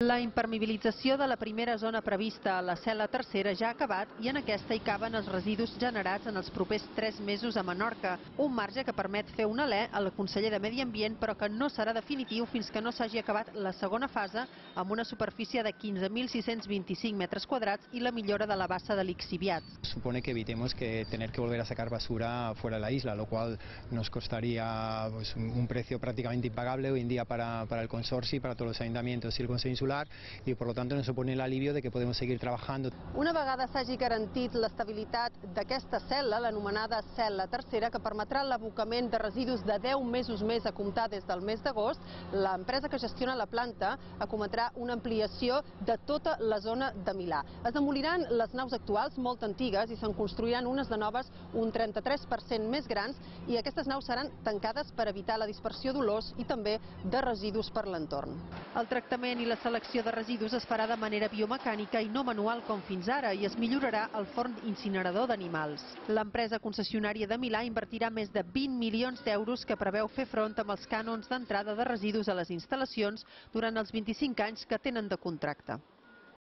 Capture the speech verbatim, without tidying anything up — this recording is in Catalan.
La impermeabilització de la primera zona prevista a la cel·la tercera ja ha acabat i en aquesta hi caben els residus generats en els propers tres mesos a Menorca, un marge que permet fer un alè al conseller de Medi Ambient, però que no serà definitiu fins que no s'hagi acabat la segona fase amb una superfície de quinze mil sis-cents vint-i-cinc metres quadrats i la millora de la bassa de lixiviat. Supone que evitemos que tener que volver a sacar basura fuera de la isla, lo cual nos costaría pues, un precio prácticamente impagable hoy en día para, para el consorcio, para todos los ayuntamientos y el Consejo Insular, y por lo tanto nos supone el alivio de que podemos seguir trabajando. Una vegada s'hagi garantit l'estabilitat d'aquesta cel·la, l'anomenada cel·la tercera, que permetrà l'abocament de residus de deu mesos més a comptar des del mes d'agost, l'empresa que gestiona la planta acometrà una ampliació de tota la zona de Milà. Es demoliran les naus actuals, molt antigues, i se'n construiran unes de noves un trenta-tres per cent més grans, i aquestes naus seran tancades per evitar la dispersió d'olors i també de residus per l'entorn. El tractament i la selecció de residus es farà de manera biomecànica i no manual com fins ara i es millorarà el forn incinerador d'animals. L'empresa concessionària de Milà invertirà més de vint milions d'euros que preveu fer front amb els cànons d'entrada de residus a les instal·lacions durant els vint-i-cinc anys que tenen de contracte.